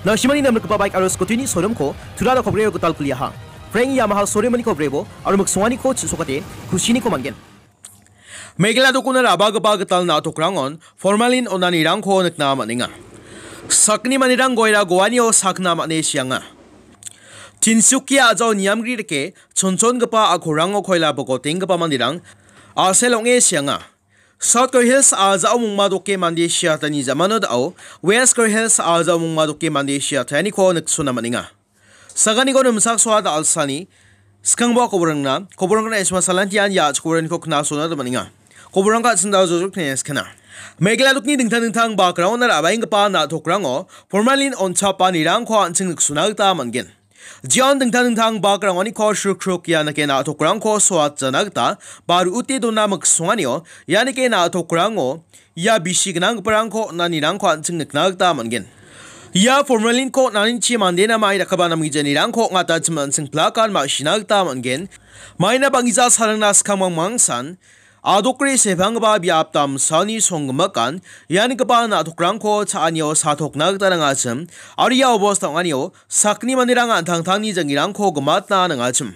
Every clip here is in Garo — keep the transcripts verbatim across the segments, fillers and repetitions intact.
Nasimani namrikgipa baik aro scooty-ni showroom-ko Tura Rokhobrio gital kuliaha. Frank Yamaha showroom-aniko brebo aro miksonganiko chisokate kusiniko man·gen. Meghalaya dokona ra·bagipa gital na·tokrangon formalin on·anirangko nikna man·enga. Sakni manderang goira goanio sakna man·e sianga. Tinsukia a·jao niamgri rike chonchongipa a·kolrango koila bokotenggipa manderang a·sel ong·e sianga. South Garo Hills a·jao mongma doke mande siatani jamano da·o, West Garo Hills a·jao mongma doke mande siataniko niksona man·enga. Saganiko nimsak soa da·alsani skangbo koborangna, koborangna isma salantian ya koboraniko knasona da man·enga. Koborangka sinda jojok teneskena. Meghalaya dokni dingtang dingtang background-na ra·baenggipa na·tokrango formalin on·chapa nirangko an·ching niksona gita man·gen. Jeon dingtang dingtang background-oniko srukruk ianike na·tokrangko soatjana gita ba ru·ute dona miksonganio ianike na·tokrango ia bisi gnanggiparangko on·anirangko an·ching nikna gita man·gen. Ia formalin-ko on·anichi mandena mai dakgipa namgijanirangko ong·atachim an·ching plakan ma·sina gita man·gen. Maina bang·gija salingna skang mangmangsan adokri sepanggipa biap damsani songgimikan iangipa na·tokrangko cha·anio satokna gita nangachim, aro ia obostao ong·anio sakni manderang an·tangtangni jang·irangko gimatna nangachim.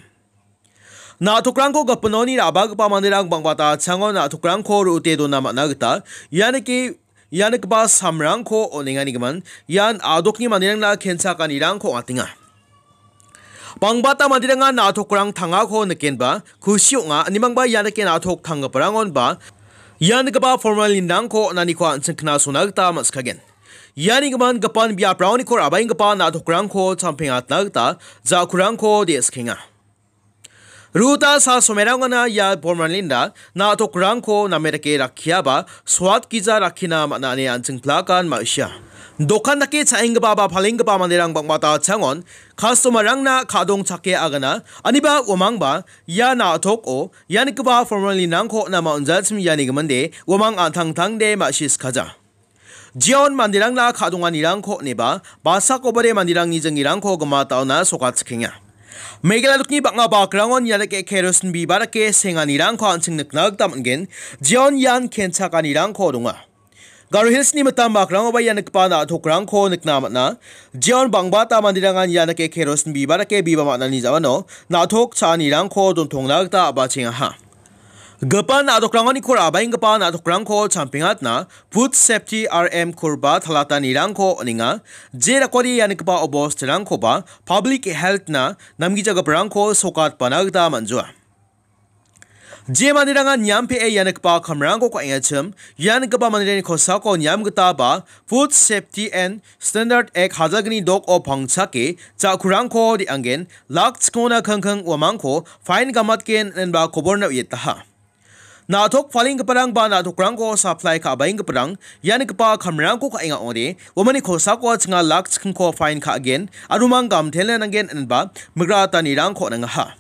Na·tokrangko gipinoni ra·bagipa manderang bang·bata chango na·tokrangko ru·ute dona man·a gita ianike ianigipa samrangko on·engani gimin ian adokni manderangna kenchakanirangko ong·atenga. Bangbata manderangan na·tokrang tangako nikenba kusi ong·a, inimangba ianike na·tok tanggiparangonba ianigipa formalinrangko on·aniko an·ching knasona gita man·sikagen. Iani gimin gipan biapraoniko ra·baenggipa na·tokrangko champengatna gita ja·kurangko de·skenga. Ruta sa somerangana ia formalinra na·tokrangko name dake rakkiaba soat gija rakkina man·a ine an·ching plakan ma·sia. Dokan dake cha·enggipa ba palenggipa manderang bang·bata changon customer-rangna ka·dongchake agana, aniba uamangba ia na·toko ianigipa formalinrangko nama on·jachim iani giminde uamang an·tangtangde ma·sisikaja. Jeon manderangna ka·donganirangko on·eba, basakobade manderangni jang·irangko gimataona sokatchikenga. Meghalaya dokni bang·a bakrangon ianike kerosin biba dake senganirangko an·ching nikna gita man·gen. Jeon ian kenchakanirangko donga. Garo Hills-ni mitam bakrangoba ianigipa na·tokrangko nikna man·a. Jeon bangbata manderangan ianike kerosin biba dake biba man·ani ja·mano na·tok cha·anirangko dontongna gita a·bachengaha. Gipan na·tokrangoni kora abaenggipa na·tokrangko champengatna Food Safety R M korba talatanirangko on·enga. Je dakode ianigipa obostirangkoba Public Health-na namgijagiparangko sokatpana gita man·joa. Je manderangan niampee ianigipa kamrangko ka·engachim, ianigipa manderangni kosako niam gita ba Food Safety and Standard Act hajalgni dok-o pangchake ja·kurangko de·angen, lak chikona kangkang uamangko fine gamatgen inenba koborna uietaha. Na·tok palenggiparang ba na·tokrangko supply ka·baenggiparang ianigipa kamrangko ka·enga ong·ode, uamangni kosako chinga lak chikingko fine ka·gen, aro mang gamtele nanggen inenba migratanirangko on·angaha.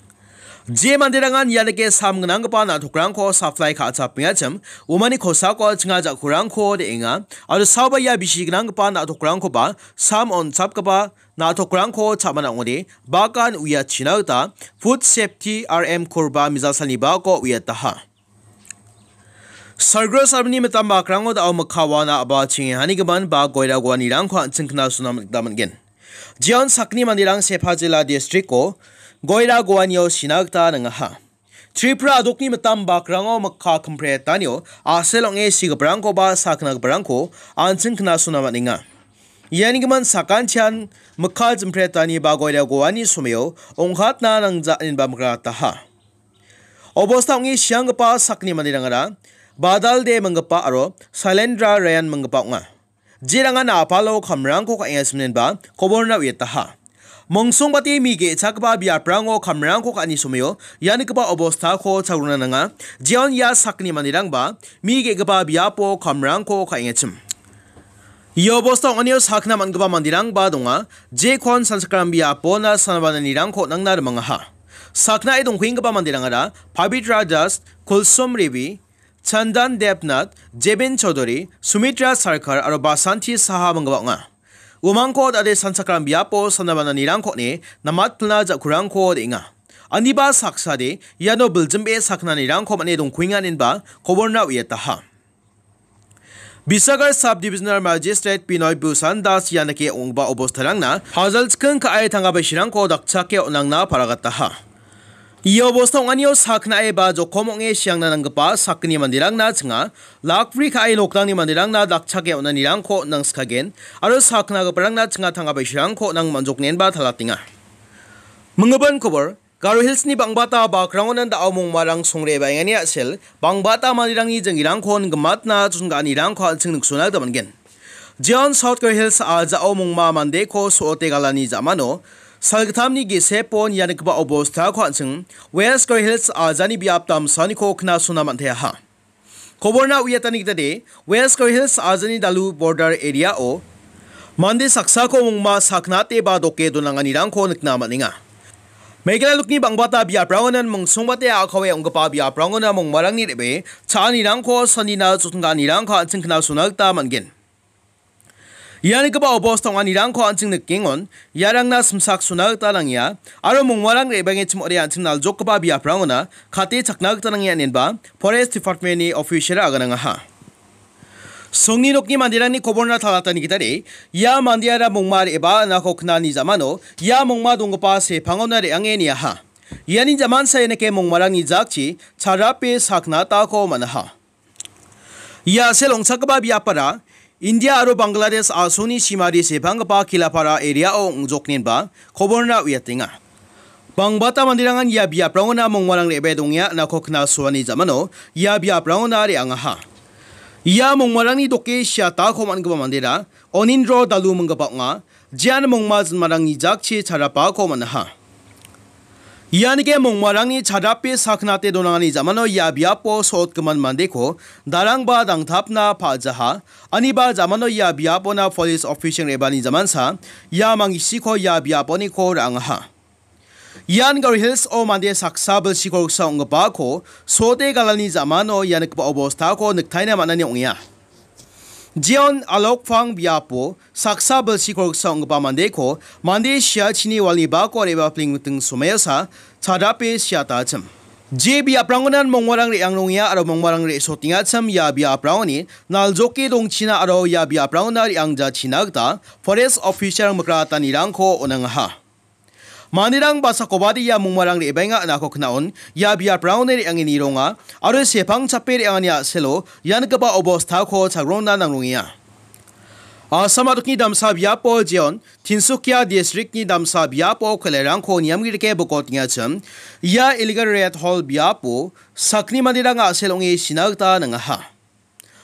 Je manderangan ianike sam gnanggipa na·tokrangko supply ka·chapengachim, uamangni kosako chinga ja·kurangko de·enga, aro saoba ia bisi gnanggipa na·tokrangkoba sam on·chapgipa na·tokrangko cha·mana ong·ode, bakan uiachina gita Food Safety R M korba mijasalni bako uiataha. Sargro salmini mitam bakrango da·o mikka wana a·bachengehanigimin ba goira goanirangko an·ching knasona gita man·gen. Jeon sakni manderang Sepa jila district-o goira goanio sina gita nangaha. Tripura adokni mitam bakrango mikka kimpretanio a·sel ong·e sigiparangkoba saknagiparangko an·ching knasona man·enga. Ianigimin sakantian mikka jimpretani ba goira goani someo ong·katna nangja inenba migrataha. Obosta ong·e sianggipa sakni manderangara Badal De minggipa aro Sailendra Ryan minggipa ong·a. Jerangan a·palo kamrangko ka·enga siminenba koborna uiataha. Mongsongbate mi ge·chakgipa biaprango kamrangko ka·ani someo ianigipa obostako chagrona nanga. Jeon ia sakni manderangba mi ge·gipa biapo kamrangko ka·engachim. Ia obostao ong·anio sakna man·gipa manderangba donga. Jekon sanchakram biapona sanabananirangko nangna rimangaha. Saknae dongkuenggipa manderangara Pabitra Das, Kulsum Revi, Chandan Debnath, Jebin Chaudhary, Sumitra Sarkar aro Basanti Saha manggipa ong·a. Uamangko dade sanchakram biapo sanabananirangko on·e namatpilna ja·kurangko de·enga. Aniba saksade iano biljimbe saknanirangko man·e dongkuenga inenba koborna uiataha. Bisagar Subdivisional Magistrate Binoy Bhushan Das ianike ong·gipa obostarangna hajalchikking ka·e tangka baisirangko dakchake on·angna paragataha. Ia obosta ong·anio saknae ba jokom ong·e siangna nanggipa sakgni manderangna chinga, lakbri ka·e nokrangni manderangna dakchake on·anirangko on·angskagen, aro saknagiparangna chinga tangka baisirangko on·ang man·joknenba talatenga. Minggipan kobor, Garo Hillsni bangbata bakrangonan da·o mongmarang songre baengani a·sel, bangbata manderangni jengirangkon gimatna chonga·anirangko an·ching niksona gita man·gen. Jeon South Garo Hills ajao mongma mandeko so·ote galani jamano, salgittamni gisepon ia nikgipa obostako an·ching West Garo Hills ajani biap damsaniko knasona man·teaha. Koborna uiatani gitade, West Garo Hills ajani dalu border area-o mande saksako mongma saknate ba doke donanganirangko nikna man·enga. Meghalaya nokni bangbata biaprangonan mingsongbate a·kawe ong·gipa biaprangona mongmarangni re·bee cha·anirangko sanina chotongganirangko an·ching knasona gita man·gen. Ia nikgipa obos ong·anirangko an·ching nikengon, iarangna simsak sona gita nangia, aro mongmarang re·bangechim ong·ode an·ching naljokgipa biaprangona kate chakna gita nangia inenba Forest Department-ni official aganangaha. Songni nokni manderangni koborna talatani gitade, ia mandeara mongma re·baa inako knani jamano, ia mongma donggipa sepangona re·ange niaha. Iani jamansa ianike mongmarangni jakchi charape sakna atako man·aha. Ia a·sel ong·chakgipa biapara India aro Bangladesh a·songni simari sepanggipa Kilapara area-o ong·joknenba koborna uiatenga. Bangbata manderangan ia biaprangona mongmarang re·bae dongenga inako knasoani jamano ia biaprangona re·angaha. Ia mongmarangni doke siatako man·gipa mandera Onindro Dalu minggipa ong·a, jean mongma jinmarangni jakchi charapako man·aha. Ianike mongmarangni charape saknate donangani jamano ia biapo sotgimin mandeko darangba dangtapna pa·jaha, aniba jamano ia biapona police official re·bani jamansa ia mangisiko ia biaponiko ra·angaha. Ian Garo Hills-o mande saksa bilsi kolgsa ong·gipako sote galani jamano ia nikgipa obostako niktaina man·ani ong·enga. Jeon Alokphang biapo saksa bilsi kolgsa ong·gipa mandeko mande siachini walni bako re·bapling miting somaiosa chadape siatachim. Je biaprangonan mongmarang re·angrongengja aro mongmarang re·sotengachim ia biaprangoni naljoke dongchina aro ia biaprangona re·angjachina gita forest officer mikratanirangko on·angaha. Manderang basakobade ia mongmarang re·baenga inako knaon, ia biaprangoni re·ange nironga, aro sepang chape re·angani a·selo ia nikgipa obostako chagrongna nangrongenga. Assam a·dokni damsa biapo Jeon, Tinsukia districtni damsa biapo koilarangko niamgirike bokotengachim, ia illegal red hole biapo sakni manderang a·sel ong·e sina gita nangaha.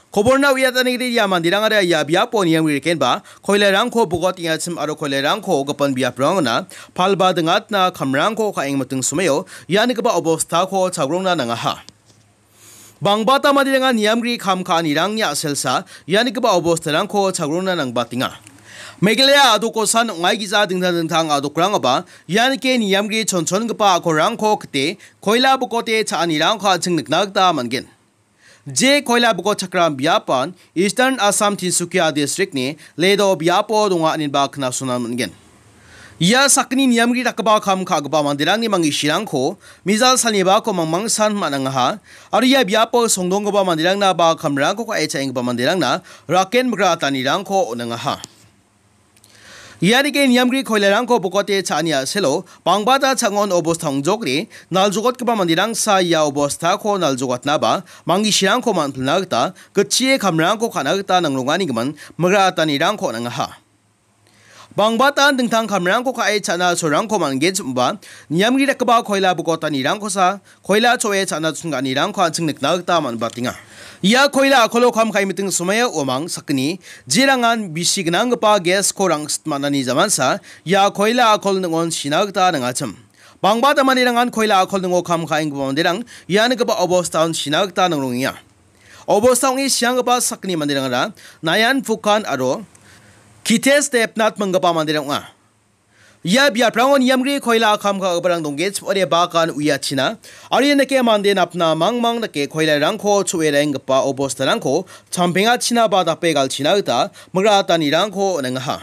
Koborna uiatanigidi ia manderangara ia biapo niamgrikenba koilarangko bokotengachim aro koilarangko gipin biaprangona palba dingatna kamrangko ka·eng miting somaio ia nikgipa obostako chagrongna nangaha. Bangbata manderangan niamgri kam ka·anirangni a·selsa ia nikgipa obostarangko chagrongna nangbatenga. Meghalaya a·dokosan ong·aigija dingtang dingtang a·dokrangoba ianike niamgri chonchongipa a·kolrangko kite koila bokote cha·anirangko an·ching nikna gita man·gen. Je koila bokotchakram biapan Eastern Assam Tinsukia districtni Ledo biapo donga ineba knasona man·gen. Ia sakgni niamgri dakgipa kam ka·gipa manderangni mangisirangko mijal salnibako mangmangsan man·angaha, aro ia biapo songdonggipa manderangna ba kamrangko ka·e cha·enggipa manderangna raken migratanirangko on·angaha. Ianike niamgri koilarangko bokote cha·ani a·selo bangbata cha·angon obosta ong·jokri naljokotgipa manderangsa ia obostako naljogatnaba mangisirangko man·pilna gita gitchie kamrangko ka·na gita nangrongani gimin migratanirangko on·angaha. Bangbatan dingtang kamrangko ka·e cha·na sorangko man·genchim·ba niamgri dakgipa koila bokotanirangkosa koila cho·e cha·na chonga·anirangko an·ching nikna gita man·batenga. Ia koila a·kolo kam ka·e miting somaio uamang sakgni jerangan bisi gnanggipa gas-ko rangsit man·ani jamansa ia koila a·kol ning·on sina gita nangachim. Bangbata manderangan koila a·kol ning·o kam ka·enggipa manderang ia nikgipa obostaon sina gita nangrongenga. Obosta ong·e sianggipa sakgni manderangara Nayan Phukan aro Kitesh Debnath minggipa manderang ong·a. Ia biaprango niamgri koila kam ka·giparang donggenchim ong·ode bakan uiachina, aro ianike mande napna mangmang dake koilarangko cho·e ra·enggipa obostarangko champengachina ba dape galchina gita migratanirangko on·engaha.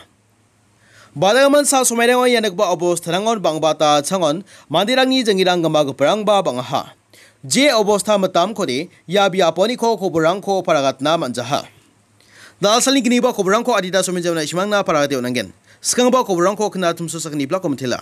Badagimin sa somairango ia nikgipa obostarangon bangbata changon manderangni jengirang gimagiparangba bang·aha. Je obosta mitamkode ia biaponiko koborangko paragatna man·jaha. Da·alsalni gniba koborangko adita somenjamna isimangna paragate on·angen. Skanggipa koborangko kna tumsu sakni blako mitela.